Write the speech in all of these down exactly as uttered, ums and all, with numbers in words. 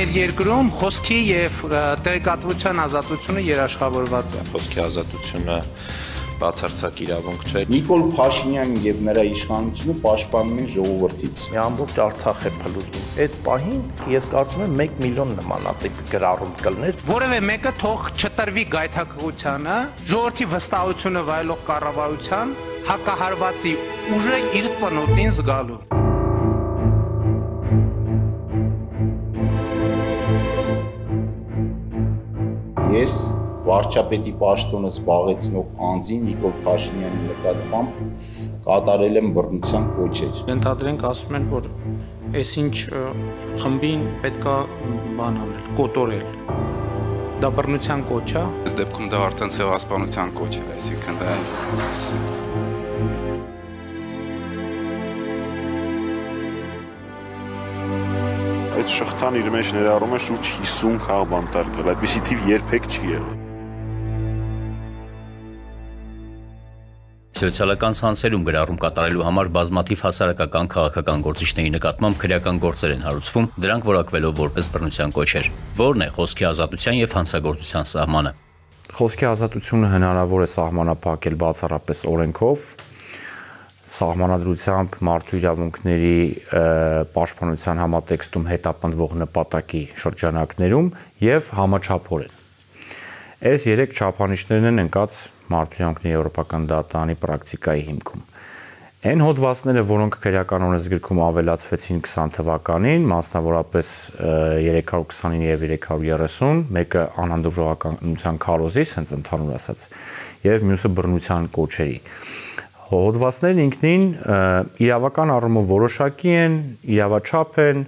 Մեր երկրում խոսքի եւ տեղեկատվության ազատությունը երաշխավորված է։ Խոսքի ազատությունը բացարձակ իրավունք չէ։ Նիկոլ Փաշինյանն եւ նրա իշխանությունը պաշտպանում են ժողովրդից։ Ամբողջ Արցախ է փլուզվում։ Այդ պահին ես կարծում եմ մեկ միլիոն նմանատիպ գրառում կլներ։ Որևէ մեկը թող չտրվի գայթակղությանը, ժողովրդի վստահությունը վայելող կառավարության հակահարվածի ուժը իր ծնոտին զգալու։ Ես վարչապետի պաշտոնը զբաղեցնող անձին Նիկոլ Փաշինյանի նկատմամբ կատարել եմ բռնության կոչեր։ Ենթադրենք ասում են, որ այսինչ խմբին պետքա բան անել, կոտորել։ Դա բռնության կոչ է։ Դեպքում դա արդեն ցեղասպանության կոչ է, այսինքն դա Այդ շղթան իր մեջ ներառում է շուրջ հիսուն խաղ բանտարկել, այդպիսի թիվ երբեք չի եղել։ Սոցիալական ցանցերում գրառում կատարելու համար բազմաթիվ հասարակական քաղաքական գործիչների նկատմամբ քրեական գործեր են հարուցվում, դրանք որակվելով որպես բռնության կոչեր։ Որն է խոսքի ազատության եւ հանցագործության սահմանը։ Խոսքի ազատությունը հնարավոր է սահմանափակել բացառապես օրենքով, սահմանադրությամբ մարդու իրավունքների պաշտպանության համատեքստում հետապնդվող նպատակի շրջանակներում եւ համաչափորեն։ Այս երեք չափանիշներն են ընկած մարդու իրավունքների եվրոպական դատարանի պրակտիկայի հիմքում։ Այն հոդվածները, որոնք քրեական օրենսգրքում ավելացվեցին քսան թվականին, մասնավորապես երեք հարյուր քսանինը եւ երեք հարյուր երեսուն, մեկը անհանդուրժ ժողովրդական քարոզի, հենց ընդհանուր ասած, եւ մյուսը բռնության կոչերի։ Հոդվածներն ինքնին իրավական առումով որոշակի են, իրավաչափ են,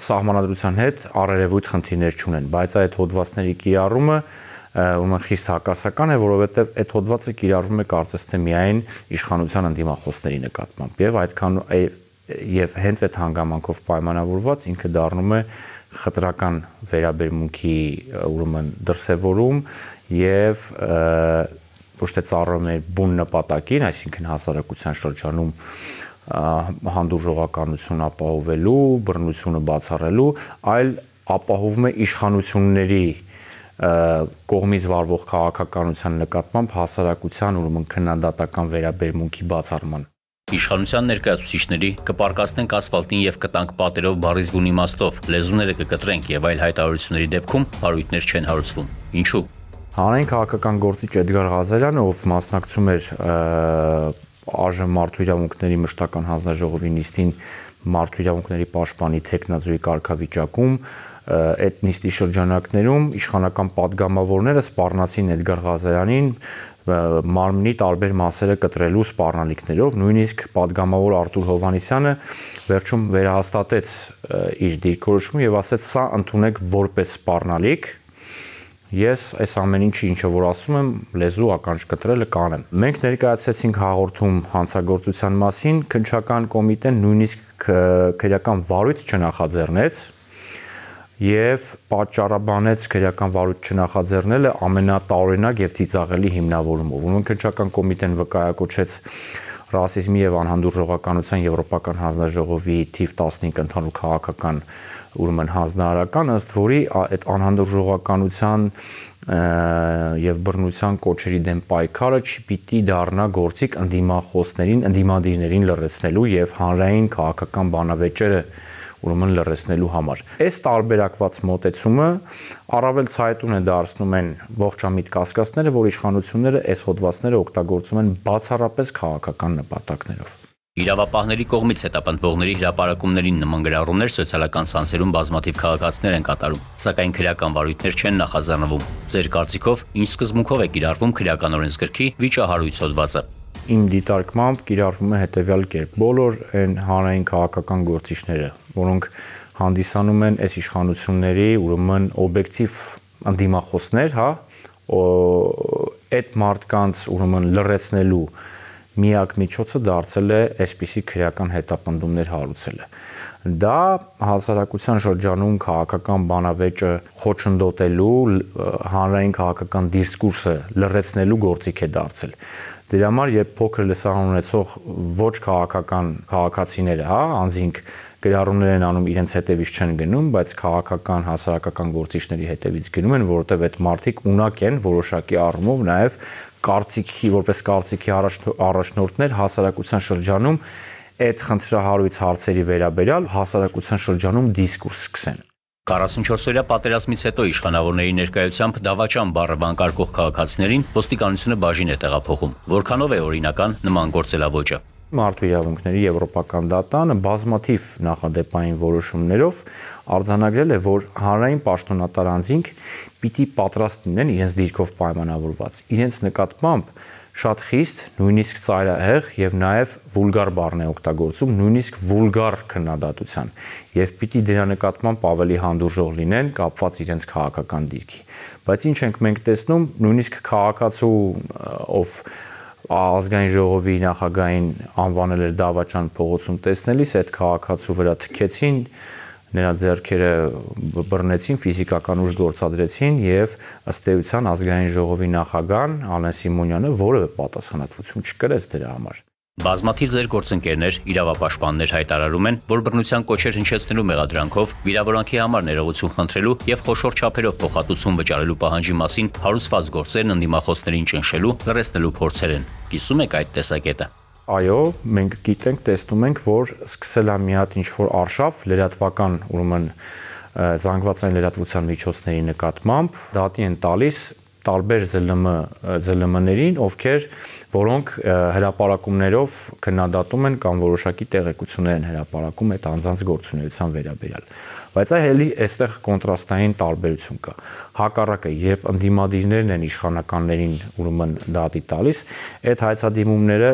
սահմանադրության հետ առերևույթ խնդիրներ չունեն, բայց այդ հոդվածների կիրառումը ուրեմն խիստ հակասական է, որովհետև այդ հոդվածը կիրառվում է կարծես թե միայն իշխանության ընդդիմախոսների նկատմամբ եւ այդքան եւ հենց այդ հանգամանքով պայմանավորված ինքը դառնում է խտրական վերաբերմունքի ուրեմն դրսևորում եւ ոչ թե ծառայում է բուն նպատակին, այսինքն հասարակության շրջանում հանդուրժողականություն ապահովելու, բռնությունը բացառելու, այլ ապահովում է իշխանությունների կողմից վարվող քաղաքականության նկատմամբ հասարակության ուրեմն քննադատական վերաբերմունքի բացառման։ Իշխանության ներկայացուցիչների կպարկասնենք ասֆալտին եւ կտանք պատերով բառից բուն իմաստով, լեզուները կկտրենք եւ այլ հայտարարությունների դեպքում բարույթներ չեն հարուցվում։ Ինչու՞։ Հանրային քաղաքական գործիչ Էդգար Ղազարյանը, ով մասնակցում էր ԱԺ մարդու իրավունքների մշտական հանձնաժողովի նիստին մարդու իրավունքների պաշտպանի թեկնածուի կարգավիճակում, այդ նիստի շրջանակներում իշխանական падգամավորները սպառնացին Էդգար Ղազարյանին մարմնի տարբեր մասերը կտրելու սպառնալիքներով, նույնիսկ падգամավոր Արտուր Հովհաննիսյանը վերջում վերահաստատեց իր դիրքորոշումը եւ ասաց՝ սա ընդունեք որպես սպառնալիք։ Ես այս ամեն ինչը ինչը որ ասում եմ, լեզու ականջ կտրելը կանեմ։ Մենք ներկայացրեցինք հաղորդում հանցագործության մասին, քննչական կոմիտեն նույնիսկ քրեական վարույթ չնախաձեռնեց եւ պատճառաբանեց քրեական վարույթ չնախաձեռնելը ամենատարօրինակ եւ ծիծաղելի հիմնավորումով։ Ուրեմն քննչական կոմիտեն վկայակոչեց ռասիզմի եւ անհանդուրժողականության եվրոպական հանձնաժողովի թիվ տասնհինգ ընդհանուր քաղաքական ուրեմն հանձնարարական, ըստ որի այդ անհանդուրժողականության եւ բռնության կոչերի դեմ պայքարը չպիտի դառնա գործիք ընդդիմախոսներին, ընդդիմադիրներին լրացնելու եւ հանրային քաղաքական բանավեճերը ուրեմն լրացնելու համար։ Այս տարբերակված մոտեցումը առավել ցայտուն է դարձնում են ողջամիտ կասկածները, որ իշխանությունները այս հոդվածները օգտագործում են բացառապես քաղաքական նպատակներով։ Իրավապահների կողմից հետապնդվողների հրապարակումներին նման գրառումներ սոցիալական ցանցերում բազմաթիվ քաղաքացիներ են կատարում, սակայն քրեական վարույթներ չեն նախաձեռնվում։ Ձեր կարծիքով ինչ սկզբունքով է կիրառվում քրեական օրենսգրքի վիճահարույց հոդվածը։ Իմ դիտարկմամբ կիրառվում է հետևյալ կերպ. բոլոր այն հանրային քաղաքական գործիչները, որոնք հանդիսանում են այս իշխանությունների ուրեմն օբյեկտիվ ընդդիմախոսներ, հա, այդ մարդկանց ուրեմն լրացնելու միակ միջոցը դարձել է այսպիսի քրեական հետապնդումներ հարուցելը։ Դա հասարակության շրջանում քաղաքական բանավեճը խոչընդոտելու, հանրային քաղաքական դիսկուրսը լրացնելու գործիք է դարձել։ Դրա համար երբ փոքր լսարան ունեցող ոչ քաղաքական քաղաքացիները, հա, անձինք գրառումներ են անում, իրենց հետևից չեն գնում, բայց քաղաքական, հասարակական գործիչների հետևից գնում են, որովհետև այդ մարդիկ ունակ են որոշակի առումով նաև կարծիքի, որպես կարծիքի առաջնորդներ հասարակության շրջանում այդ խնդրահարույց հարցերի վերաբերյալ հասարակության շրջանում դիսկուրս սկսեն։ քառասունչորսօրյա պատերազմից հետո իշխանավորների ներկայությամբ դավաճան բառը վանկարկող քաղաքացիներին ոստիկանությունը բաժին է տեղափոխում։ Որքանով է օրինական նման գործելավոճը։ Մարդու իրավունքների եվրոպական դատանը բազմաթիվ նախադեպային որոշումներով արձանագրել է, որ հանրային պաշտոնատար անձինք պիտի պատրաստ լինեն իրենց դիրքով պայմանավորված, իրենց նկատմամբ շատ խիստ, նույնիսկ ծայրահեղ եւ նաեւ վուլգար բառն է օգտագործում, նույնիսկ վուլգար քննադատության եւ պիտի դրա նկատմամբ ավելի հանդուրժող լինեն կապված իրենց քաղաքական դիրքի։ Բայց ինչ ենք մենք տեսնում, նույնիսկ քաղաքացու ով ազգային ժողովի նախագահին անվանել էր դավաճան փողոցում տեսնելիս, այդ քաղաքացու վրա թքեցին, նրա ձեռքերը բռնեցին, ֆիզիկական ուժ գործադրեցին եւ ըստ էության ազգային ժողովի նախագահան Ալեն Սիմոնյանը որևէ պատասխանատվություն չկրեց դրա համար։ Բազմաթիվ ձեր գործընկերներ, իրավապաշտպաններ հայտարարում են, որ բռնության կոչեր հնչեցնելու մեղադրանքով վիրավորանքի համար ներողություն խնդրելու եւ խոշոր չափերով փոխհատուցում վճարելու պահանջի մասին հարուցված գործերն ընդդիմախոսներին ճնշելու, լրացնելու փորձեր են։ Կիսում եք այդ տեսակետը։ Այո, մենք գիտենք, տեսնում ենք, որ սկսել է մի հատ ինչ-որ արշավ լրատվական, ուրեմն զանգվածային լրատվության միջոցների նկատմամբ դատի են տալիս տարբեր ԶԼՄ-ներին, ովքեր որոնք հրապարակումներով քննադատում են կամ որոշակի տեղեկություններ են հրապարակում այդ անձանց գործունեության վերաբերյալ։ Բայց այլ այստեղ կոնտրաստային տարբերություն կա։ Հակառակը, երբ ընդդիմադիրներն են իշխանականներին ուրեմն դատի տալիս, այդ հայցադիմումները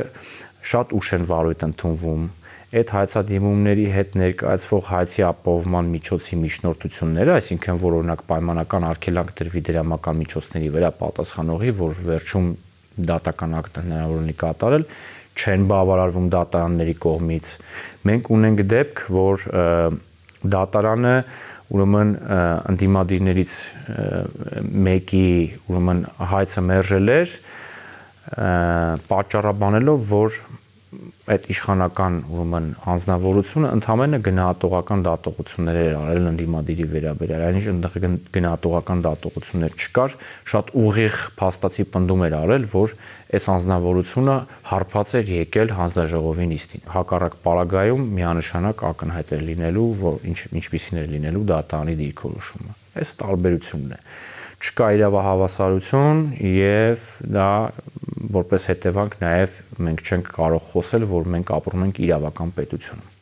շատ ուշ են վարույթ ընդունվում, այդ հայցադիմումների հետ ներկայացվող հայցի ապահովման միջոցի միջնորդությունները, այսինքն որ օրինակ պայմանական արգելանք դրվի դրամական միջոցների վրա պատասխանողի, որ վերջում դատական ակտ հնարավոր ունի կատարել, չեն բավարարվում դատարանների կողմից։ Մենք ունենք դեպք, որ դատարանը ուրեմն ընդդիմադիրներից մեկի ուրեմն հայցը մերժել էր, պատճառաբանելով, որ այդ իշխանական ուրեմն անձնավորությունը ընդհանրապես գնահատողական դատողություններ էր արել ընդդիմադիրի վերաբերյալ, այնինչ այնտեղ գնահատողական դատողություններ չկար, շատ ուղիղ փաստացի պնդում էր արել, որ այս անձնավորությունը հարբած էր եկել հանձնաժողովի նիստին։ Հակառակ պարագայում միանշանակ ակնհայտ էր լինելու, որ ինչ ինչպիսին էր լինելու դատարանի դիրքորոշումը։ Այս տարբերությունն է։ Չկա իրավահավասարություն եւ դա որպես հետևանք նաեւ մենք չենք կարող խոսել, որ մենք ապրում ենք իրավական պետությունում։